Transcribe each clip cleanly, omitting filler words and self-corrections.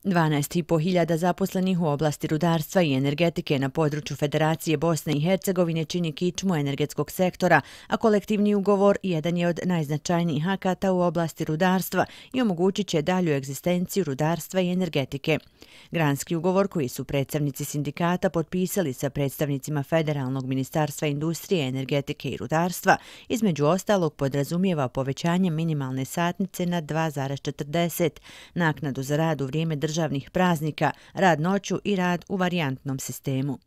12.500 zaposlenih u oblasti rudarstva i energetike na području Federacije Bosne i Hercegovine čini kičmu energetskog sektora, a kolektivni ugovor jedan je od najznačajnijih akata u oblasti rudarstva i omogućit će dalju egzistenciju rudarstva i energetike. Granski ugovor koji su predstavnici sindikata potpisali sa predstavnicima Federalnog ministarstva industrije, energetike i rudarstva, između ostalog podrazumijeva povećanje minimalne satnice na 2,40, naknadu za rad u vrijeme državnih praznika, rad noću i rad u varijantnom sistemu.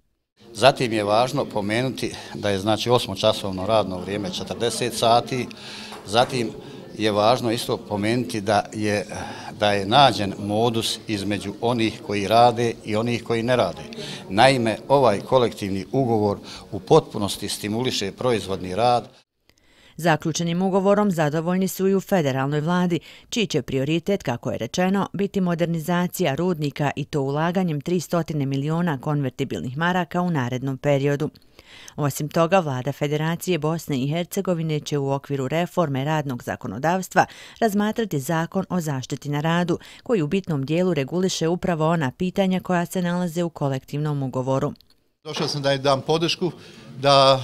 Zatim je važno pomenuti da je 8-časovno radno vrijeme 40 sati, zatim je važno isto pomenuti da je nađen modus između onih koji rade i onih koji ne rade. Naime, ovaj kolektivni ugovor u potpunosti stimuliše proizvodni rad. Zaključenim ugovorom zadovoljni su i u federalnoj vladi, čiji će prioritet, kako je rečeno, biti modernizacija rudnika i to ulaganjem 300 miliona konvertibilnih maraka u narednom periodu. Osim toga, vlada Federacije Bosne i Hercegovine će u okviru reforme radnog zakonodavstva razmatrati zakon o zaštiti na radu, koji u bitnom dijelu reguliše upravo ona pitanja koja se nalaze u kolektivnom ugovoru. Došao sam da dam podršku, da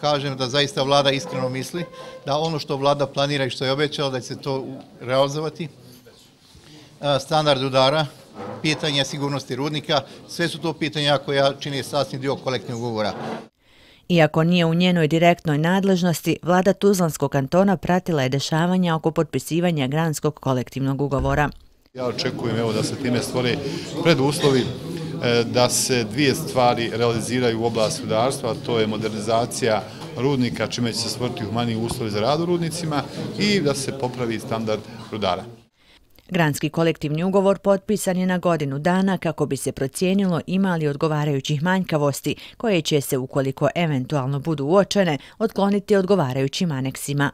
kažem da zaista vlada iskreno misli, da ono što vlada planira i što je obećala da će se to realizovati. Standard rudara, pitanje sigurnosti rudnika, sve su to pitanja koja čine sastavni dio kolektivnog ugovora. Iako nije u njenoj direktnoj nadležnosti, vlada Tuzlanskog kantona pratila je dešavanja oko potpisivanja Granskog kolektivnog ugovora. Ja očekujem da se time stvore preduslovi da se dvije stvari realiziraju u oblasti rudarstva, a to je modernizacija rudnika, čime će se stvoriti humaniji uslovi za rad u rudnicima i da se popravi standard rudara. Granski kolektivni ugovor potpisan je na godinu dana kako bi se procijenilo ima li odgovarajućih manjkavosti, koje će se, ukoliko eventualno budu uočene, otkloniti odgovarajućim aneksima.